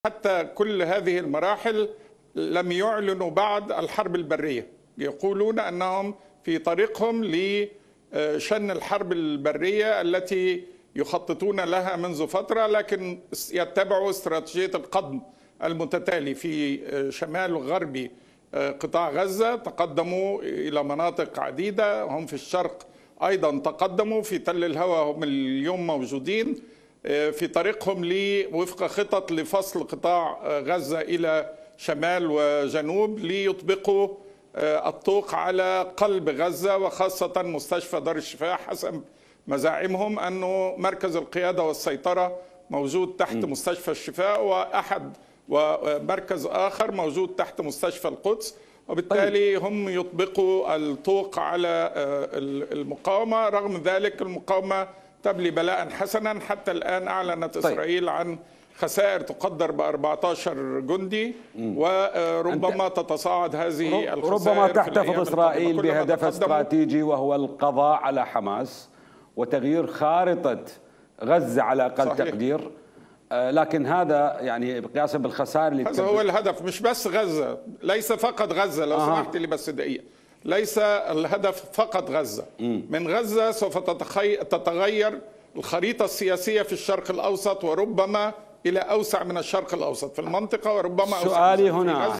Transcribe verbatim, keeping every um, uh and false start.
حتى كل هذه المراحل لم يعلنوا بعد الحرب البرية. يقولون أنهم في طريقهم لشن الحرب البرية التي يخططون لها منذ فترة، لكن يتبعوا استراتيجية القضم المتتالي في شمال وغرب قطاع غزة. تقدموا إلى مناطق عديدة، هم في الشرق أيضا تقدموا، في تل الهوى هم اليوم موجودين في طريقهم وفق خطط لفصل قطاع غزة إلى شمال وجنوب ليطبقوا الطوق على قلب غزة، وخاصة مستشفى دار الشفاء. حسب مزاعمهم أنه مركز القيادة والسيطرة موجود تحت م. مستشفى الشفاء، وأحد ومركز آخر موجود تحت مستشفى القدس، وبالتالي طيب. هم يطبقوا الطوق على المقاومة. رغم ذلك المقاومة تبلي بلاء حسنا. حتى الآن أعلنت طيب. إسرائيل عن خسائر تقدر ب أربعة عشر جندي، م. وربما تتصاعد هذه الخسائر. ربما تحتفظ إسرائيل بهدف استراتيجي وهو القضاء على حماس وتغيير خارطة غزة على أقل صحيح. تقدير. لكن هذا يعني قياسا بالخسائر اللي هذا هو الهدف، مش بس غزة، ليس فقط غزة. لو آه. سمحت لي بس دقيقة، ليس الهدف فقط غزة. م. من غزة سوف تتغير الخريطة السياسية في الشرق الأوسط، وربما إلى أوسع من الشرق الأوسط في المنطقة، وربما أوسع. سؤالي هنا